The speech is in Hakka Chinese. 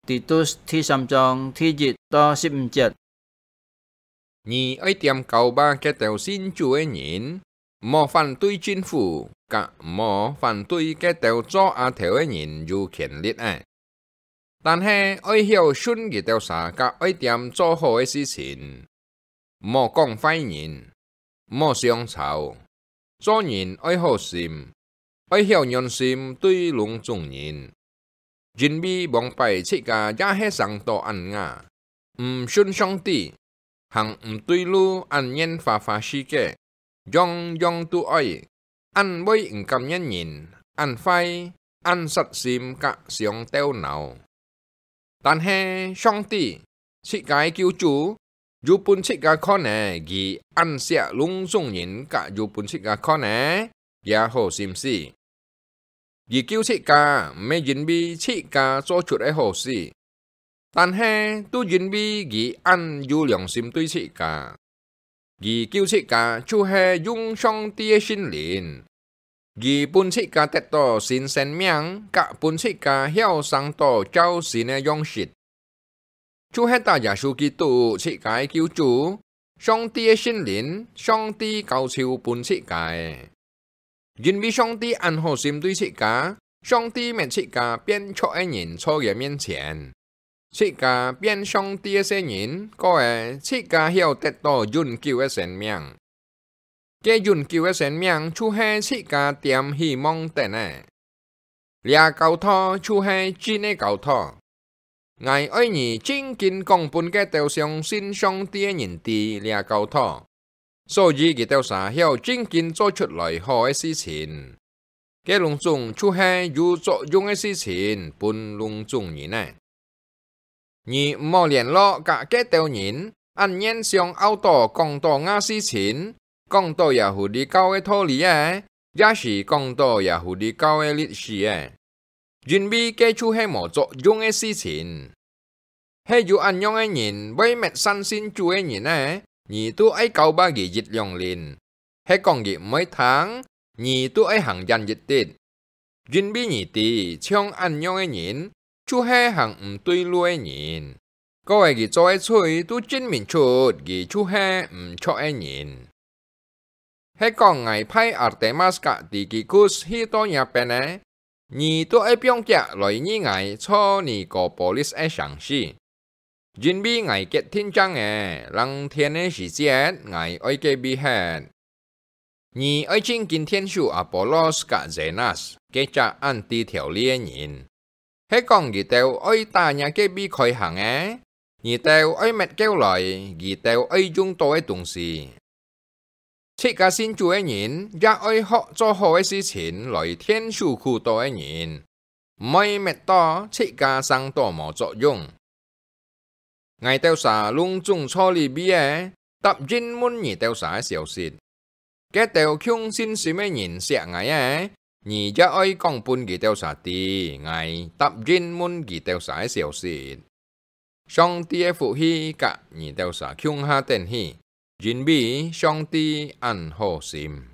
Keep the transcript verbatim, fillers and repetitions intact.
Titus第三章第一到十五節。你愛恬教化該兜信主个人，毋好反對政府，甲毋好反對該兜做阿頭个人有權力个。但係愛曉訓佢兜儕甲愛恬做好个事情，毋好講壞人，毋好相吵。做人愛好心，愛曉忍心對攏總人，因為往擺自家也係生到恁樣，毋信上帝，行毋對路，恁願花花世界，樣樣都愛，恁會毋甘願人，恁壞，恁煞心甲傷頭腦。但係上帝，自家个救主，有分自家看个，佢恁惜攏總人甲有分自家看个這好心思。佢救自家，毋係因為自家做出个好事，但係都因為佢恁有良心對自家。佢救自家，就係用上帝个聖靈，佢分自家得到新生命，甲分自家曉生到照神个樣式。就係打耶穌基督自家个救主，上帝个聖靈，上帝交手分自家个。因為上帝恁好心對自家，上帝搣自家變著个人坐佢面前，自家變上帝个細人，故个自家曉得到永久个生命。 該永久个生命就係自家恬希望等个。這教導就係真个教導。𠊎愛你正經講分該兜相信上帝个人知這教導，所以佢兜儕曉正經做出來好个事情。該攏總就係有作用个事情分攏總人个。 你毋好聯絡甲該兜人，恁願相拗著講到吾事情，講到耶穌基督个道理个，也係講到耶穌基督个歷史个，因為該就係無作用个事情。係有恁樣个人會搣散信主个人个，你都愛教化佢一兩輪， 係講佢毋會聽，你都愛行遠一息，因為你知，像恁樣个人，就係行毋對路个人。故个佢做个罪都證明出佢就係毋著个人。係講𠊎派Artemas甲Tychicus去到若片个，你都愛放厥來與𠊎坐尼哥波利斯个城市。 因為𠊎決定正个，冷天个時節，𠊎愛隔壁歇。你愛正經𢯭手Apollos甲Zenas，該隻恁知條理个人。係講佢兜愛打若隔壁開行个，你兜愛搣救來，佢兜愛用到个東西。 自家信主个人，也愛學做好个事情來𢯭手苦惱个人，毋愛搣到自家生到無作用。𠊎兜儕攏總坐這位个，答應問你兜儕个消息。該兜共信心个人惜𠊎个，你也愛講分佢兜儕知，𠊎答應問佢兜儕个消息。 上帝个福氣甲你兜儕共下等去，因為上帝恁好心。